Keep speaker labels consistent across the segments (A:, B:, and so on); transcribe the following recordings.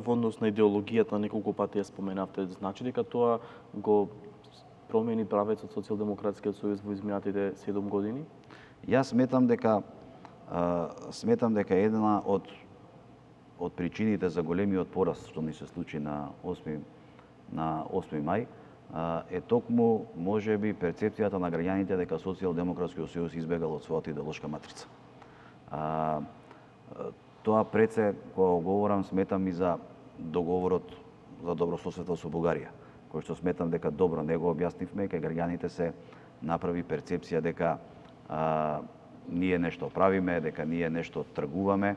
A: Во однос на идеологијата, неколку пати ја споменавте, значи дека тоа го промени правецот Социјалдемократскиот сојуз во изминатите 7 години?
B: Јас сметам дека една од причините за големиот пораст што ни се случи на 8 мај е токму можеби перцепцијата на граѓаните дека Социјалдемократскиот сојуз избегал од својата идеолошка матрица. Тоа пред се, кога говорам, сметам и за договорот за добрососедство со Бугарија, кој што сметам дека добро не го објаснивме, кај граѓаните се направи перцепција дека ние нешто правиме, дека ние нешто тргуваме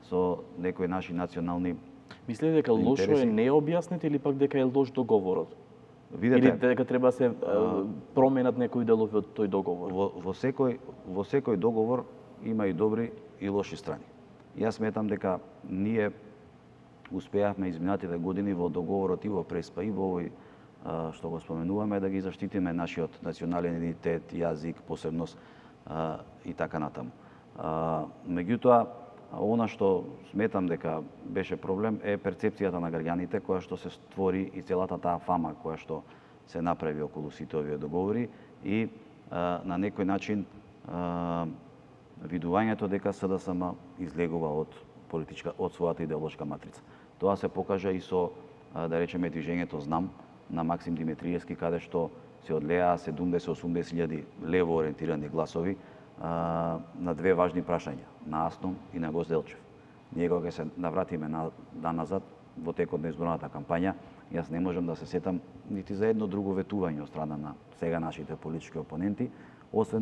B: со некои наши национални интереси.
A: Мислите дека лошо е не објаснете или пак дека е лош договорот?
B: Видете,
A: или дека треба да се променат некои делови од тој договор?
B: Во секој договор има и добри и лоши страни. Јас сметам дека ние успеавме изминатите години во договорот и во Преспа и во овој што го споменуваме да ги заштитиме нашиот национален идентитет, јазик, посебност и така натаму. Меѓутоа, она што сметам дека беше проблем е перцепцијата на граѓаните која што се створи и целата таа фама која што се направи околу сите овие договори и на некој начин видувањето дека СДСМ излегува од својата идеолошка матрица. Тоа се покажа и со, да речеме, движењето Знам на Максим Димитриевски, каде што се одлеа 70-80 лево ориентирани гласови на две важни прашања, на Аснум и на Гозделчев. Ние кога ќе се навратиме назад во текот на изборната кампања, јас не можам да се сетам нити за едно друго ветување од страна на сега нашите политички опоненти, освен